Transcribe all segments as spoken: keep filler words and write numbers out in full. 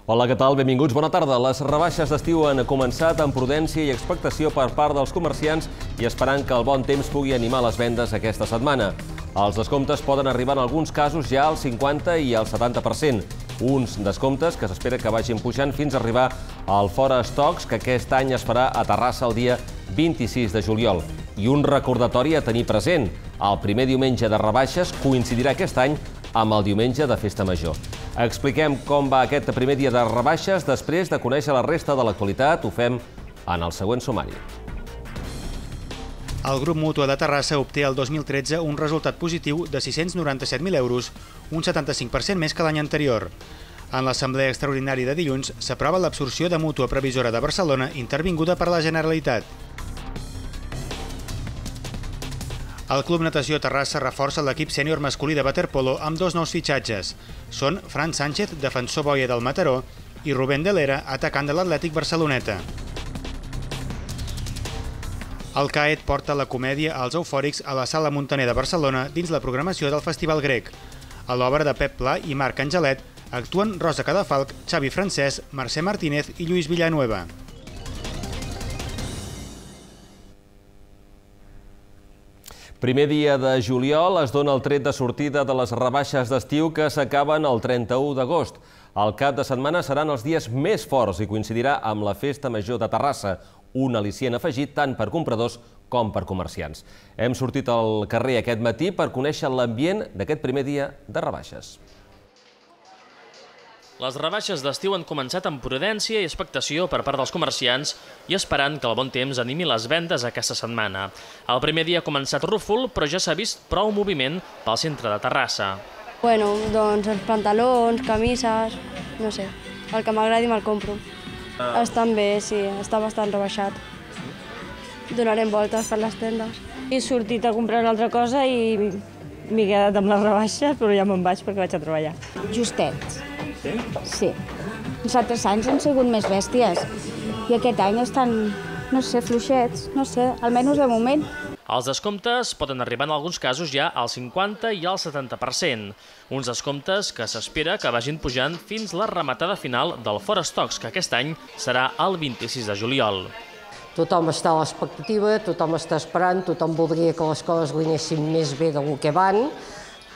Hola, què tal? Benvinguts, bona tarda. Les rebaixes d'estiu han començat amb prudència i expectació per part dels comerciants i esperant que el bon temps pugui animar les vendes aquesta setmana. Els descomptes poden arribar en alguns casos ja al cinquanta i al setanta per cent. Uns descomptes que s'espera que vagin pujant fins a arribar al Fora Stocks, que aquest any es farà a Terrassa el dia vint-i-sis de juliol. I un recordatori a tenir present. El primer diumenge de rebaixes coincidirà aquest any amb el diumenge de Festa Major. Expliquem com va aquest primer dia de rebaixes després de conèixer la resta de l'actualitat. Ho fem en el següent sumari. El grup Mútua de Terrassa obté el dos mil tretze un resultat positiu de sis-cents noranta-set mil euros, un setanta-cinc per cent més que l'any anterior. En l'assemblea extraordinària de dilluns s'aprova l'absorció de Mútua Previsora de Barcelona intervinguda per la Generalitat. El Club Natació Terrassa reforça l'equip sènior masculí de waterpolo amb dos nous fitxatges. Són Fran Sánchez, defensor boia del Mataró, i Rubén de l'Era, atacant de l'Atlètic Barceloneta. El CAET porta la comèdia als eufòrics a la Sala Muntaner de Barcelona dins la programació del Festival Grec. A l'obra de Pep Pla i Marc Angelet actuen Rosa Cadafalch, Xavi Francesc, Mercè Martínez i Lluís Villanueva. Primer dia de juliol es dona el tret de sortida de les rebaixes d'estiu que s'acaben el trenta-u d'agost. El cap de setmana seran els dies més forts i coincidirà amb la Festa Major de Terrassa, un al·licient afegit tant per compradors com per comerciants. Hem sortit al carrer aquest matí per conèixer l'ambient d'aquest primer dia de rebaixes. Les rebaixes d'estiu han començat amb prudència i expectació per part dels comerciants i esperant que el bon temps animi les vendes aquesta setmana. El primer dia ha començat rúfol, però ja s'ha vist prou moviment pel centre de Terrassa. Bueno, doncs els pantalons, camises, no sé, el que m'agradi me'l compro. Estan bé, sí, està bastant rebaixat. Donarem voltes per les tendes. He sortit a comprar una altra cosa i m'he quedat amb les rebaixes, però ja me'n vaig perquè vaig a treballar. Justets. Sí? Sí. Els altres anys han sigut més bèsties i aquest any estan, no sé, fluixets, no sé, almenys de moment. Els descomptes poden arribar en alguns casos ja al cinquanta i al setanta per cent. Uns descomptes que s'espera que vagin pujant fins la rematada final del Fora Stocks, que aquest any serà el vint-i-sis de juliol. Tothom està a l'expectativa, tothom està esperant, tothom voldria que les coses li anessin més bé del que van,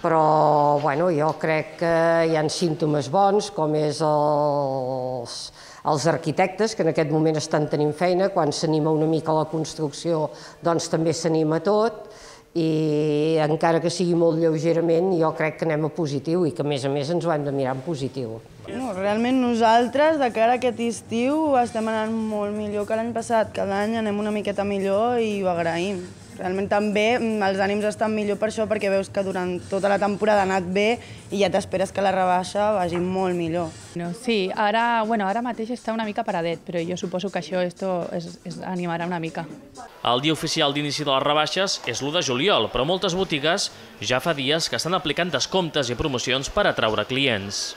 però bueno, jo crec que hi ha símptomes bons, com és els, els arquitectes, que en aquest moment estan tenint feina. Quan s'anima una mica la construcció, doncs també s'anima tot, i encara que sigui molt lleugerament, jo crec que anem a positiu i que a més a més ens ho hem de mirar en positiu. No, realment nosaltres, de cara a aquest estiu, estem anant molt millor que l'any passat. Cada any anem una miqueta millor i ho agraïm. Realment també els ànims estan millor per això, perquè veus que durant tota la temporada ha anat bé i ja t'esperes que la rebaixa vagi molt millor. Sí, ara, bueno, ara mateix està una mica paradet, però jo suposo que això esto es, es animarà una mica. El dia oficial d'inici de les rebaixes és l'u de juliol, però moltes botigues ja fa dies que estan aplicant descomptes i promocions per atraure clients.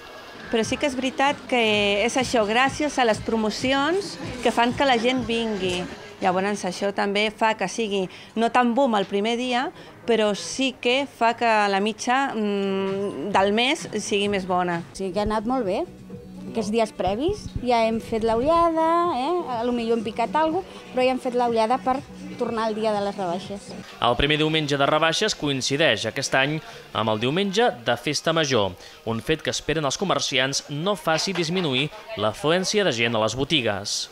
Però sí que és veritat que és això, gràcies a les promocions que fan que la gent vingui. Llavors això també fa que sigui no tan boom el primer dia, però sí que fa que la mitja del mes sigui més bona. Sí que ha anat molt bé. Aquests dies previs ja hem fet l'ullada, eh? Potser hem picat alguna cosa, però ja hem fet l'ullada per tornar al dia de les rebaixes. El primer diumenge de rebaixes coincideix aquest any amb el diumenge de Festa Major, un fet que esperen els comerciants no faci disminuir l'afluència de gent a les botigues.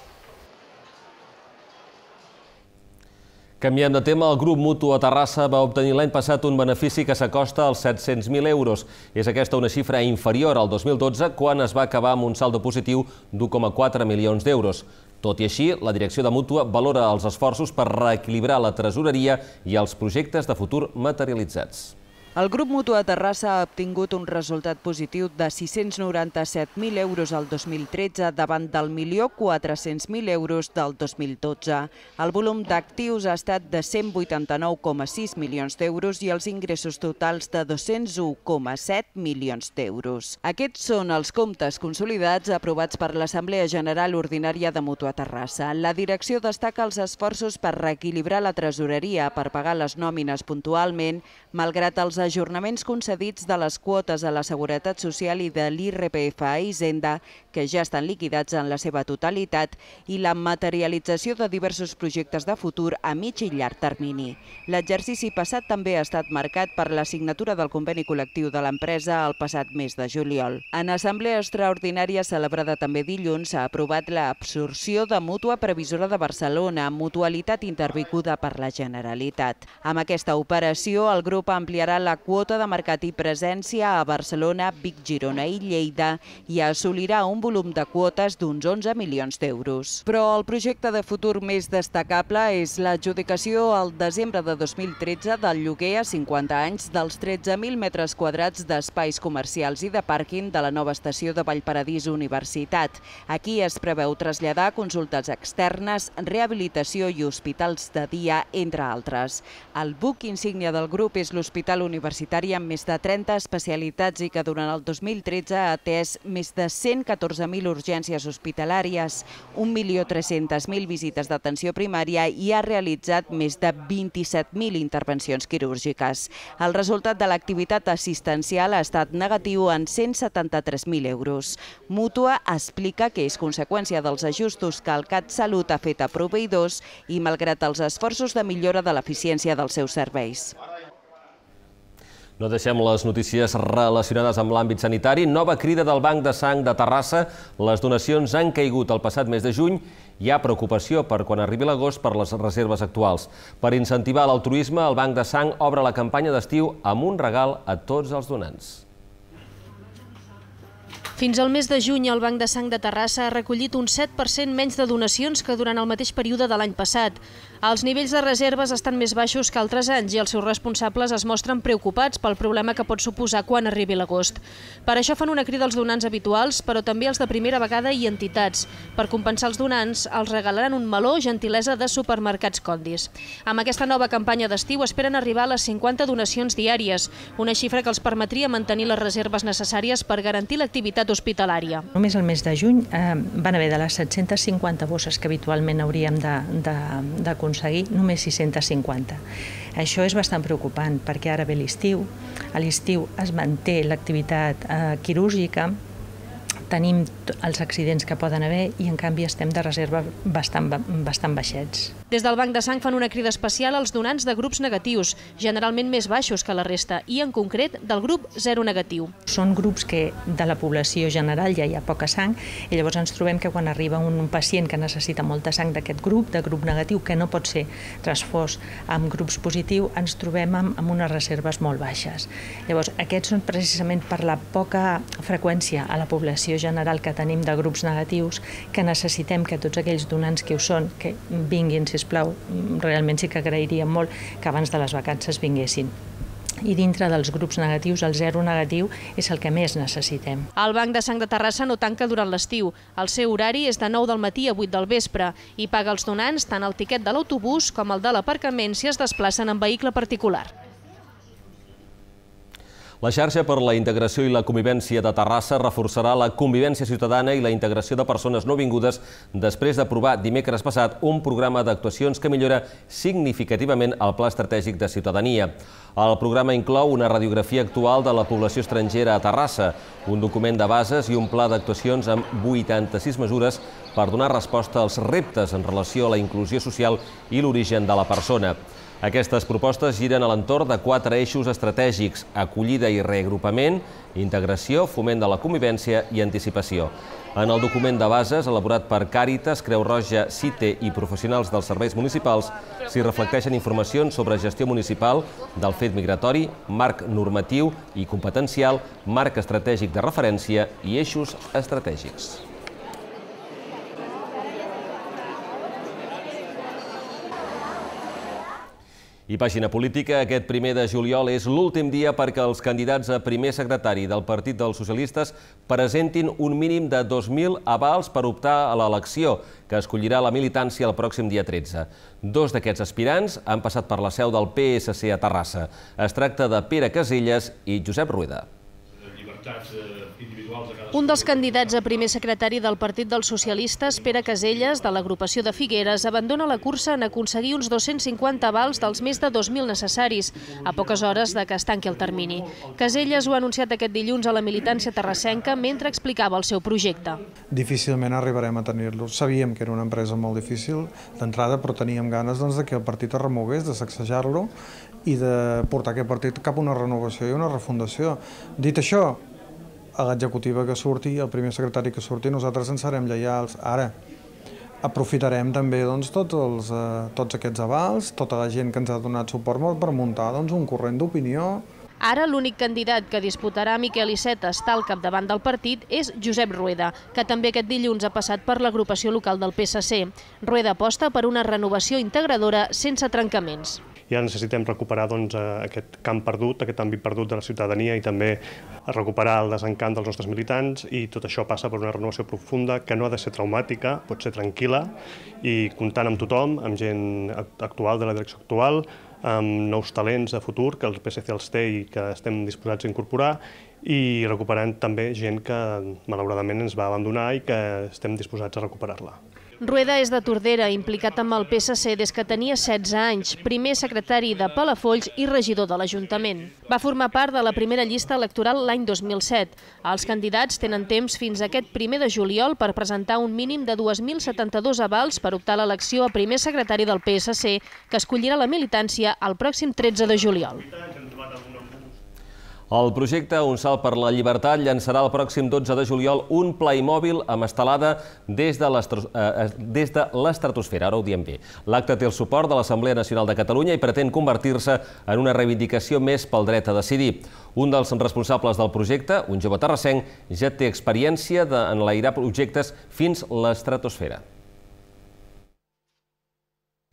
Canviant de tema, el grup Mútua Terrassa va obtenir l'any passat un benefici que s'acosta als set-cents mil euros. És aquesta una xifra inferior al dos mil dotze, quan es va acabar amb un saldo positiu d'u coma quatre milions d'euros. Tot i així, la direcció de Mútua valora els esforços per reequilibrar la tresoreria i els projectes de futur materialitzats. El grup Mútua Terrassa ha obtingut un resultat positiu de sis-cents noranta-set mil euros el dos mil tretze davant del milió quatre-cents mil euros del dos mil dotze. El volum d'actius ha estat de cent vuitanta-nou coma sis milions d'euros i els ingressos totals de dos-cents u coma set milions d'euros. Aquests són els comptes consolidats aprovats per l'Assemblea General Ordinària de Mútua Terrassa. La direcció destaca els esforços per reequilibrar la tresoreria per pagar les nòmines puntualment, malgrat els ajornaments concedits de les quotes a la Seguretat Social i de l'I R P F a Hisenda, que ja estan liquidats en la seva totalitat, i la materialització de diversos projectes de futur a mig i llarg termini. L'exercici passat també ha estat marcat per la signatura del conveni col·lectiu de l'empresa el passat mes de juliol. En assemblea extraordinària celebrada també dilluns s'ha aprovat l'absorció de Mútua Previsora de Barcelona, mutualitat intervinguda per la Generalitat. Amb aquesta operació, el grup ampliarà la quota de mercat i presència a Barcelona, Vic, Girona i Lleida i assolirà un volum de quotes d'uns onze milions d'euros. Però el projecte de futur més destacable és l'adjudicació al desembre de dos mil tretze del lloguer a cinquanta anys dels tretze mil metres quadrats d'espais comercials i de pàrquing de la nova estació de Vallparadís Universitat. Aquí es preveu traslladar consultes externes, rehabilitació i hospitals de dia, entre altres. El buc insígnia del grup és l'Hospital Universitari amb més de trenta especialitats i que durant el dos mil tretze ha atès més de cent catorze mil urgències hospitalàries, un milió tres-centes mil visites d'atenció primària i ha realitzat més de vint-i-set mil intervencions quirúrgiques. El resultat de l'activitat assistencial ha estat negatiu en cent setanta-tres mil euros. Mútua explica que és conseqüència dels ajustos que el CatSalut ha fet a proveïdors i malgrat els esforços de millora de l'eficiència dels seus serveis. No deixem les notícies relacionades amb l'àmbit sanitari. Nova crida del Banc de Sang de Terrassa. Les donacions han caigut el passat mes de juny. Hi ha preocupació per quan arribi l'agost per les reserves actuals. Per incentivar l'altruisme, el Banc de Sang obre la campanya d'estiu amb un regal a tots els donants. Fins al mes de juny, el Banc de Sang de Terrassa ha recollit un set per cent menys de donacions que durant el mateix període de l'any passat. Els nivells de reserves estan més baixos que altres anys i els seus responsables es mostren preocupats pel problema que pot suposar quan arribi l'agost. Per això fan una crida als donants habituals, però també als de primera vegada i entitats. Per compensar els donants, els regalaran un meló gentilesa de Supermercats Condis. Amb aquesta nova campanya d'estiu esperen arribar a les cinquanta donacions diàries, una xifra que els permetria mantenir les reserves necessàries per garantir l'activitat hospitalària. Només el mes de juny eh, van haver de les set-centes cinquanta bosses que habitualment hauríem d'aconseguir, només sis-centes cinquanta. Això és bastant preocupant perquè ara ve l'estiu, a l'estiu es manté l'activitat eh, quirúrgica, tenim els accidents que poden haver i en canvi estem de reserva bastant, bastant baixets. Des del Banc de Sang fan una crida especial als donants de grups negatius, generalment més baixos que la resta, i en concret del grup zero negatiu. Són grups que de la població general ja hi ha poca sang i llavors ens trobem que quan arriba un pacient que necessita molta sang d'aquest grup, de grup negatiu, que no pot ser transfós amb grups positiu, ens trobem amb, amb unes reserves molt baixes. Llavors, aquests són precisament per la poca freqüència a la població general que tenim de grups negatius, que necessitem que tots aquells donants que ho són, que vinguin, sisplau, realment sí que agrairíem molt que abans de les vacances vinguessin. I dintre dels grups negatius, el zero negatiu és el que més necessitem. El Banc de Sang de Terrassa no tanca durant l'estiu. El seu horari és de nou del matí a vuit del vespre i paga als donants tant el tiquet de l'autobús com el de l'aparcament si es desplacen en vehicle particular. La xarxa per la integració i la convivència de Terrassa reforçarà la convivència ciutadana i la integració de persones nouvingudes després d'aprovar dimecres passat un programa d'actuacions que millora significativament el Pla Estratègic de Ciutadania. El programa inclou una radiografia actual de la població estrangera a Terrassa, un document de bases i un pla d'actuacions amb vuitanta-sis mesures per donar resposta als reptes en relació a la inclusió social i l'origen de la persona. Aquestes propostes giren a l'entorn de quatre eixos estratègics: acollida i reagrupament, integració, foment de la convivència i anticipació. En el document de bases, elaborat per Càritas, Creu Roja, CITE i professionals dels serveis municipals, s'hi reflecteixen informacions sobre gestió municipal del fet migratori, marc normatiu i competencial, marc estratègic de referència i eixos estratègics. I pàgina política, aquest primer de juliol és l'últim dia perquè els candidats a primer secretari del Partit dels Socialistes presentin un mínim de dos mil avals per optar a l'elecció, que escollirà la militància el pròxim dia tretze. Dos d'aquests aspirants han passat per la seu del P S C a Terrassa. Es tracta de Pere Caselles i Josep Rueda. Llibertats individuals Un dels candidats a primer secretari del Partit dels Socialistes, Pere Caselles, de l'agrupació de Figueres, abandona la cursa en aconseguir uns dos-cents cinquanta avals dels més de dos mil necessaris, a poques hores de que es tanqui el termini. Caselles ho ha anunciat aquest dilluns a la militància terrassenca mentre explicava el seu projecte. Difícilment arribarem a tenir-lo. Sabíem que era una empresa molt difícil d'entrada, però teníem ganes doncs, de que el partit es remogués, de sacsejar-lo i de portar aquest partit cap a una renovació i una refundació. Dit això, a l'executiva que surti, el primer secretari que surti, nosaltres ens serem lleials. Ara, aprofitarem també doncs, tots, els, eh, tots aquests avals, tota la gent que ens ha donat suport per muntar doncs, un corrent d'opinió. Ara l'únic candidat que disputarà Miquel Iceta estar al capdavant del partit és Josep Rueda, que també aquest dilluns ha passat per l'agrupació local del P S C. Rueda aposta per una renovació integradora sense trencaments. Ja necessitem recuperar doncs, aquest camp perdut, aquest àmbit perdut de la ciutadania i també recuperar el desencant dels nostres militants, i tot això passa per una renovació profunda que no ha de ser traumàtica, pot ser tranquil·la i comptant amb tothom, amb gent actual de la direcció actual, amb nous talents de futur que el P S C els té i que estem disposats a incorporar, i recuperant també gent que malauradament ens va abandonar i que estem disposats a recuperar-la. Rueda és de Tordera, implicat amb el P S C des que tenia setze anys, primer secretari de Palafolls i regidor de l'Ajuntament. Va formar part de la primera llista electoral l'any dos mil set. Els candidats tenen temps fins a aquest primer de juliol per presentar un mínim de dos mil setanta-dos avals per optar a l'elecció a primer secretari del P S C, que escollirà la militància el pròxim tretze de juliol. El projecte Un salt per la llibertat llançarà el pròxim dotze de juliol un Playmobil amb estelada des de l'estratosfera. Ara ho diem bé. L'acte té el suport de l'Assemblea Nacional de Catalunya i pretén convertir-se en una reivindicació més pel dret a decidir. Un dels responsables del projecte, un jove terrassenc, ja té experiència d'enlairar projectes fins l'estratosfera.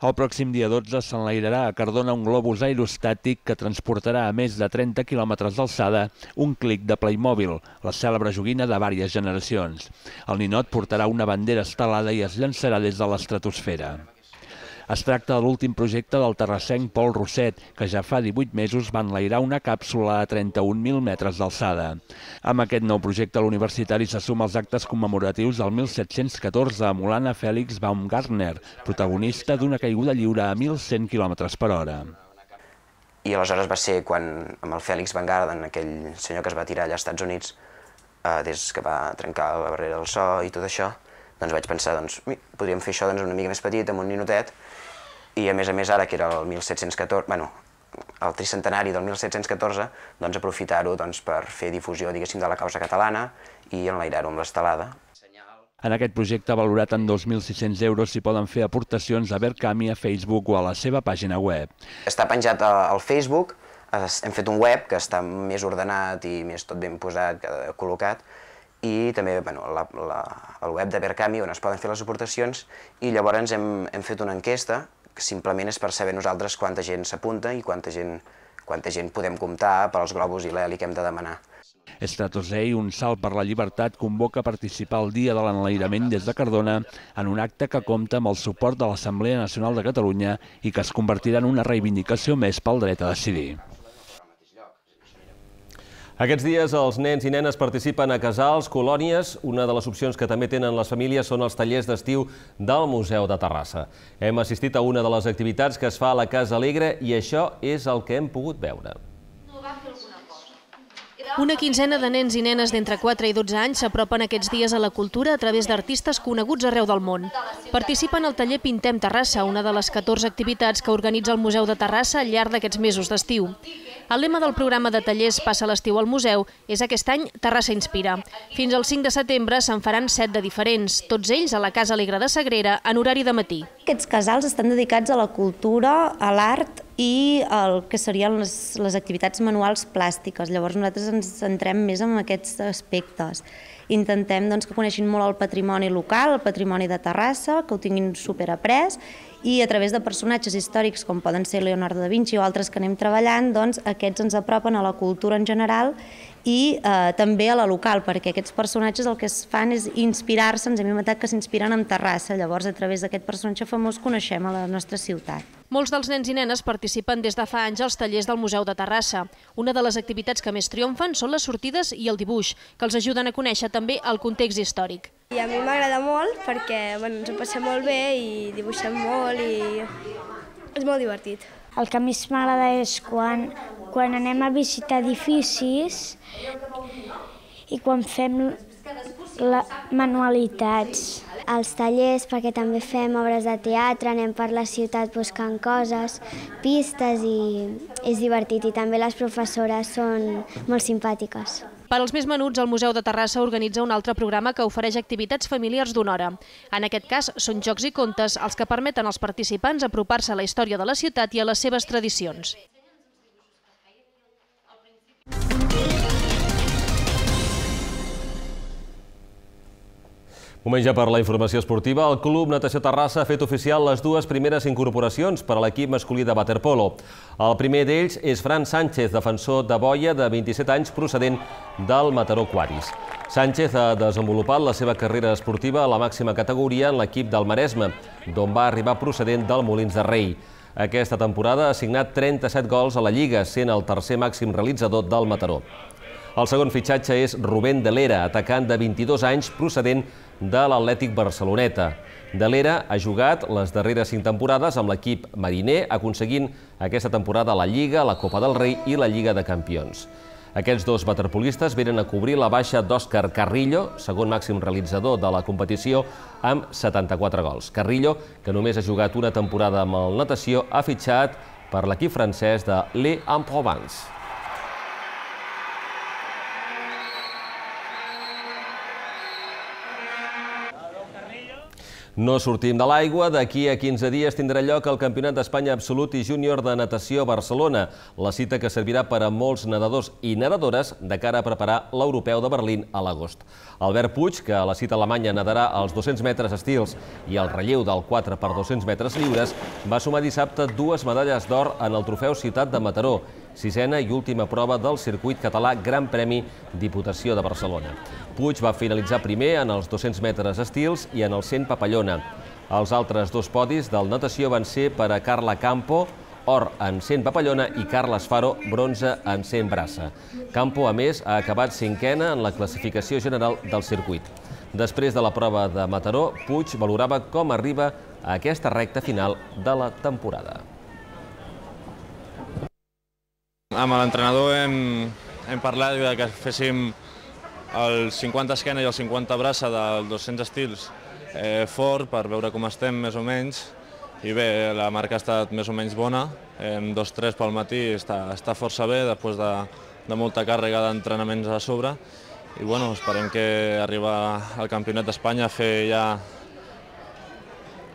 El pròxim dia dotze s'enlairarà a Cardona un globus aerostàtic que transportarà a més de trenta quilòmetres d'alçada un clic de Playmobil, la cèlebre joguina de diverses generacions. El ninot portarà una bandera estelada i es llançarà des de l'estratosfera. Es tracta de l'últim projecte del terrassenc Pol Rosset, que ja fa divuit mesos va enlairar una càpsula a trenta-un mil metres d'alçada. Amb aquest nou projecte, l'universitari se suma als actes commemoratius del mil set-cents catorze amb Anna Fèlix Baumgartner, protagonista d'una caiguda lliure a mil cent quilòmetres per hora. I aleshores va ser quan, amb el Fèlix Baumgartner, aquell senyor que es va tirar allà als Estats Units, des que va trencar la barrera del so i tot això, doncs vaig pensar, doncs, podríem fer això una mica més petit, amb un ninotet, i a més a més ara, que era el mil set-cents catorze, bueno, el tricentenari del mil set-cents catorze, doncs aprofitar-ho per fer difusió, diguéssim, de la causa catalana i enlairar-ho amb l'estelada. En aquest projecte, valorat en dos mil sis-cents euros, s'hi poden fer aportacions a Verkami, a Facebook o a la seva pàgina web. Està penjat al Facebook, hem fet un web que està més ordenat i més tot ben posat, col·locat, i també el web de Verkami on es poden fer les aportacions, i llavors hem fet una enquesta que simplement és per saber nosaltres quanta gent s'apunta i quanta gent podem comptar per als globus i l'heli que hem de demanar. Stratosei, Un salt per la llibertat, convoca a participar el dia de l'enlairament des de Cardona en un acte que compta amb el suport de l'Assemblea Nacional de Catalunya i que es convertirà en una reivindicació més pel dret a decidir. Aquests dies els nens i nenes participen a casals, colònies. Una de les opcions que també tenen les famílies són els tallers d'estiu del Museu de Terrassa. Hem assistit a una de les activitats que es fa a la Casa Alegre i això és el que hem pogut veure. Una quinzena de nens i nenes d'entre quatre i dotze anys s'apropen aquests dies a la cultura a través d'artistes coneguts arreu del món. Participen al taller Pintem Terrassa, una de les catorze activitats que organitza el Museu de Terrassa al llarg d'aquests mesos d'estiu. El lema del programa de tallers Passa l'estiu al museu és aquest any Terrassa Inspira. Fins al cinc de setembre se'n faran set de diferents, tots ells a la Casa Alegre de Sagrera en horari de matí. Aquests casals estan dedicats a la cultura, a l'art i el que serien les, les activitats manuals plàstiques. Llavors nosaltres ens centrem més en aquests aspectes. Intentem doncs, que coneixin molt el patrimoni local, el patrimoni de Terrassa, que ho tinguin superaprès, i a través de personatges històrics com poden ser Leonardo da Vinci o altres que anem treballant, doncs aquests ens apropen a la cultura en general i eh, també a la local, perquè aquests personatges el que es fan és inspirar-se, ens hem inventat que s'inspiren en Terrassa, llavors a través d'aquest personatge famós coneixem a la nostra ciutat. Molts dels nens i nenes participen des de fa anys als tallers del Museu de Terrassa. Una de les activitats que més triomfen són les sortides i el dibuix, que els ajuden a conèixer també el context històric. I a mi m'agrada molt perquè bueno, ens ho passem molt bé i dibuixem molt i és molt divertit. El que més m'agrada és quan, quan anem a visitar edificis i quan fem la, manualitats. Els tallers, perquè també fem obres de teatre, anem per la ciutat buscant coses, pistes i és divertit. I també les professores són molt simpàtiques. Per als més menuts, el Museu de Terrassa organitza un altre programa que ofereix activitats familiars d'una hora. En aquest cas, són jocs i contes els que permeten als participants apropar-se a la història de la ciutat i a les seves tradicions. Moment ja per la informació esportiva. El Club Natació Terrassa ha fet oficial les dues primeres incorporacions per a l'equip masculí de waterpolo. El primer d'ells és Fran Sánchez, defensor de boia de vint-i-set anys procedent del Mataró Aquaris. Sánchez ha desenvolupat la seva carrera esportiva a la màxima categoria en l'equip del Maresme, d'on va arribar procedent del Molins de Rei. Aquesta temporada ha signat trenta-set gols a la Lliga, sent el tercer màxim realitzador del Mataró. El segon fitxatge és Rubén de l'Era, atacant de vint-i-dos anys procedent de l'Atlètic Barceloneta. De l'Era ha jugat les darreres cinc temporades amb l'equip mariner, aconseguint aquesta temporada la Lliga, la Copa del Rei i la Lliga de Campions. Aquests dos waterpolistes venen a cobrir la baixa d'Òscar Carrillo, segon màxim realitzador de la competició, amb setanta-quatre gols. Carrillo, que només ha jugat una temporada amb el natació, ha fitxat per l'equip francès de l'Aix-en-Provence. No sortim de l'aigua. D'aquí a quinze dies tindrà lloc el Campionat d'Espanya Absolut i Júnior de Natació a Barcelona, la cita que servirà per a molts nedadors i nedadores de cara a preparar l'Europeu de Berlín a l'agost. Albert Puig, que a la cita alemanya nedarà els dos-cents metres estils i el relleu del quatre per dos-cents metres lliures, va sumar dissabte dues medalles d'or en el trofeu Ciutat de Mataró, sisena i última prova del circuit català Gran Premi Diputació de Barcelona. Puig va finalitzar primer en els dos-cents metres estils i en el cent papallona. Els altres dos podis del natació van ser per a Carla Campo, or en cent papallona, i Carles Faro, bronze en cent braça. Campo, a més, ha acabat cinquena en la classificació general del circuit. Després de la prova de Mataró, Puig valorava com arriba a aquesta recta final de la temporada. Amb l'entrenador hem, hem parlat de que féssim el cinquanta esquena i el cinquanta braça dels dos-cents estils eh, fort per veure com estem més o menys. I bé, la marca ha estat més o menys bona, en dos tres pel matí està, està força bé després de, de molta càrrega d'entrenaments a sobre. I bueno, esperem que arribar al Campionat d'Espanya a fer ja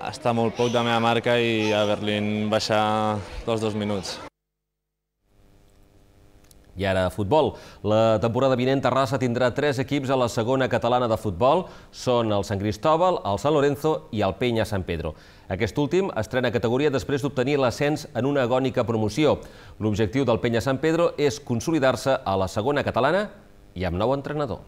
estar molt poc de la meva marca i a Berlín baixar dels dos minuts. I ara, futbol. La temporada vinent Terrassa tindrà tres equips a la segona catalana de futbol. Són el Sant Cristóbal, el Sant Lorenzo i el Penya Sant Pedro. Aquest últim estrena categoria després d'obtenir l'ascens en una agònica promoció. L'objectiu del Penya Sant Pedro és consolidar-se a la segona catalana i amb nou entrenador.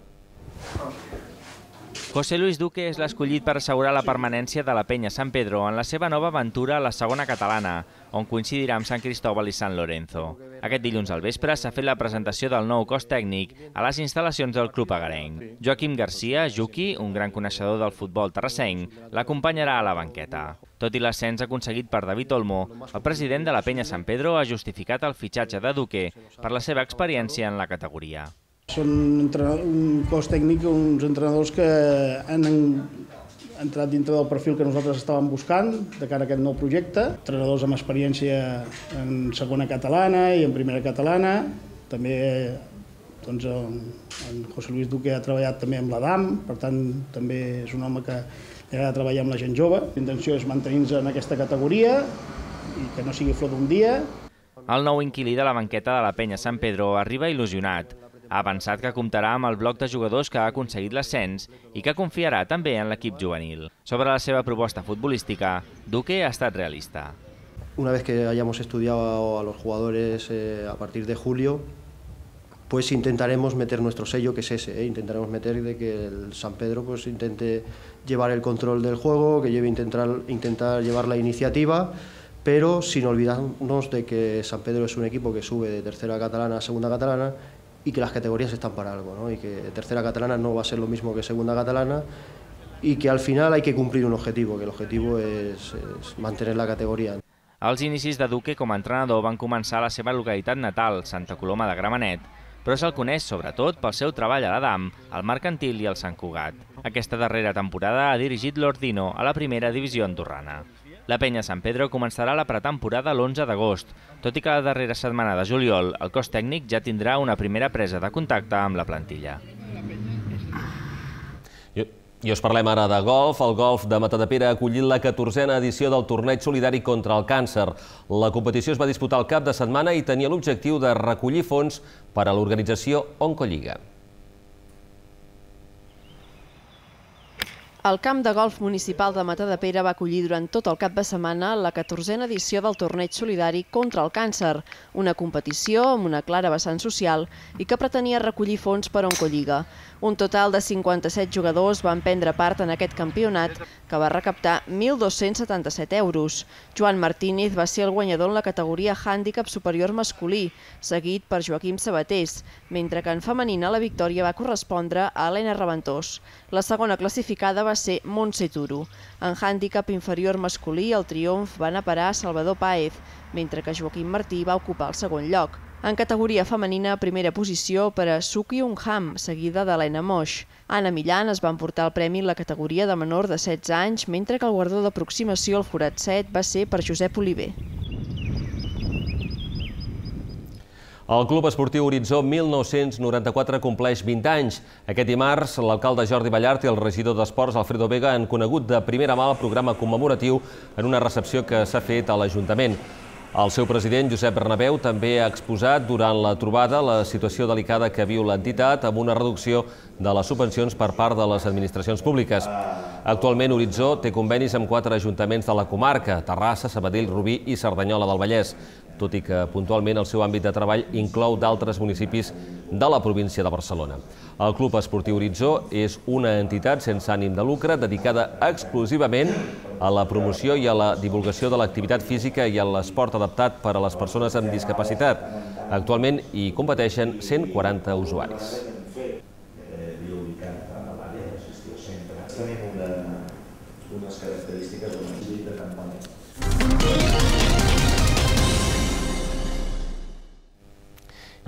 José Luis Duque és l'escollit per assegurar la permanència de la Penya Sant Pedro en la seva nova aventura a la segona catalana, on coincidirà amb Sant Cristóbal i Sant Lorenzo. Aquest dilluns al vespre s'ha fet la presentació del nou cos tècnic a les instal·lacions del club agarenc. Joaquim Garcia, Juqui, un gran coneixedor del futbol terrassenc, l'acompanyarà a la banqueta. Tot i l'ascens aconseguit per David Olmo, el president de la Penya Sant Pedro ha justificat el fitxatge de Duque per la seva experiència en la categoria. Són un cos tècnic, uns entrenadors que han entrat dintre del perfil que nosaltres estàvem buscant de cara a aquest nou projecte. Entrenadors amb experiència en segona catalana i en primera catalana. També doncs, en José Luis Duque ha treballat també amb l'Adam, per tant també és un home que li agrada treballar amb la gent jove. La intenció és mantenir-nos en aquesta categoria i que no sigui flor d'un dia. El nou inquilí de la banqueta de la Penya Sant Pedro arriba il·lusionat. Ha avançat que comptarà amb el bloc de jugadors que ha aconseguit l'ascens i que confiarà també en l'equip juvenil. Sobre la seva proposta futbolística, Duque ha estat realista. Una vez que hayamos estudiado a los jugadores eh, a partir de julio, pues intentaremos meter nuestro sello, que es ese, ¿eh? Intentaremos meter de que el San Pedro pues, intente llevar el control del juego, que lleve intentar, intentar llevar la iniciativa, pero sin olvidarnos de que San Pedro es un equipo que sube de tercera catalana a segunda catalana y que las categorías están para algo, ¿no? Y que tercera catalana no va a ser lo mismo que segunda catalana y que al final hay que cumplir un objetivo, que el objetivo es, es mantener la categoría. Els inicis de Duque com a entrenador van començar a la seva localitat natal, Santa Coloma de Gramenet, però se'l coneix sobretot pel seu treball a l'Adam, al Mercantil i al Sant Cugat. Aquesta darrera temporada ha dirigit l'Ordino a la primera divisió andorrana. La penya Sant Pedro començarà la pretemporada l'onze d'agost, tot i que la darrera setmana de juliol el cos tècnic ja tindrà una primera presa de contacte amb la plantilla. I us parlem ara de golf. El golf de Matadepera ha acollit la catorzena edició del torneig solidari contra el càncer. La competició es va disputar el cap de setmana i tenia l'objectiu de recollir fons per a l'organització Oncolliga. El camp de golf municipal de Matadepera va acollir durant tot el cap de setmana la catorzena edició del torneig solidari contra el càncer, una competició amb una clara vessant social i que pretenia recollir fons per a Oncolliga. Un total de cinquanta-set jugadors van prendre part en aquest campionat, que va recaptar mil dos-cents setanta-set euros. Joan Martínez va ser el guanyador en la categoria hàndicap superior masculí, seguit per Joaquim Sabatés, mentre que en femenina la victòria va correspondre a Helena Reventós. La segona classificada va ser Montse Turo. En hàndicap inferior masculí, el triomf va anar a parar a Salvador Páez, mentre que Joaquim Martí va ocupar el segon lloc. En categoria femenina, primera posició per a Suk Young Ham, seguida d'Helena Moix. Anna Millan es va emportar el premi en la categoria de menor de setze anys, mentre que el guardó d'aproximació al forat set va ser per Josep Oliver. El Club Esportiu Horitzó mil nou-cents noranta-quatre compleix vint anys. Aquest dimarts, l'alcalde Jordi Ballart i el regidor d'Esports, Alfredo Vega, han conegut de primera mà el programa commemoratiu en una recepció que s'ha fet a l'Ajuntament. El seu president, Josep Bernabéu, també ha exposat durant la trobada la situació delicada que viu l'entitat amb una reducció de les subvencions per part de les administracions públiques. Actualment, Horitzó té convenis amb quatre ajuntaments de la comarca, Terrassa, Sabadell, Rubí i Cerdanyola del Vallès, tot i que puntualment el seu àmbit de treball inclou d'altres municipis de la província de Barcelona. El Club Esportiu Horitzó és una entitat sense ànim de lucre dedicada exclusivament a la promoció i a la divulgació de l'activitat física i a l'esport adaptat per a les persones amb discapacitat. Actualment hi competeixen cent quaranta usuaris. Tenim unes característiques de una campanya.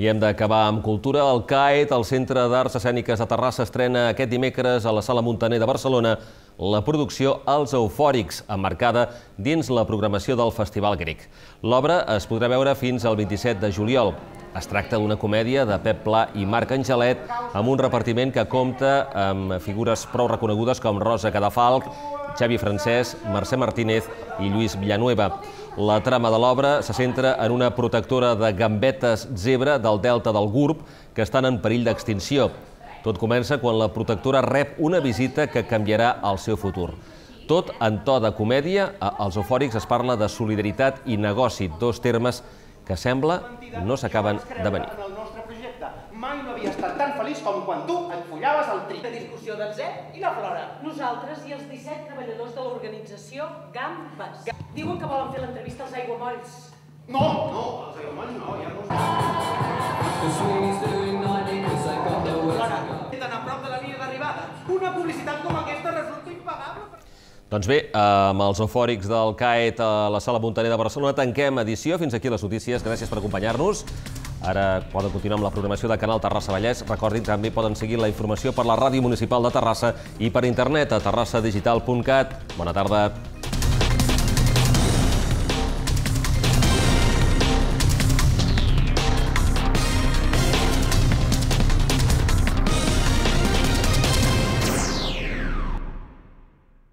I hem d'acabar amb cultura. El C A E T, el Centre d'Arts Escèniques de Terrassa, estrena aquest dimecres a la Sala Muntaner de Barcelona la producció Els Eufòrics, emmarcada dins la programació del Festival Grec. L'obra es podrà veure fins al vint-i-set de juliol. Es tracta d'una comèdia de Pep Pla i Marc Angelet amb un repartiment que compta amb figures prou reconegudes com Rosa Cadafalch, Xavi Francesc, Mercè Martínez i Lluís Villanueva. La trama de l'obra se centra en una protectora de gambetes zebra del delta del Gurb que estan en perill d'extinció. Tot comença quan la protectora rep una visita que canviarà el seu futur. Tot en to de comèdia, als Eufòrics es parla de solidaritat i negoci, dos termes que sembla no s'acaben de venir. Mai no havia estat tan feliç com quan tu et follaves el tri. La discussió del Zep i la Flora. Nosaltres i els disset treballadors de l'organització Gambes. Diuen que volen fer l'entrevista als aiguamolls. No, no, els aiguamolls no, ja no. Flora, tan a prop de la línia d'arribada. Una publicitat com aquesta resulta impagable. Doncs bé, amb els Eufòrics del C A E T a la Sala Muntaner de Barcelona tanquem edició. Fins aquí les notícies. Gràcies per acompanyar-nos. Ara poden continuar amb la programació de Canal Terrassa Vallès. Recordin, també poden seguir la informació per la Ràdio Municipal de Terrassa i per internet a terrassa digital punt cat. Bona tarda.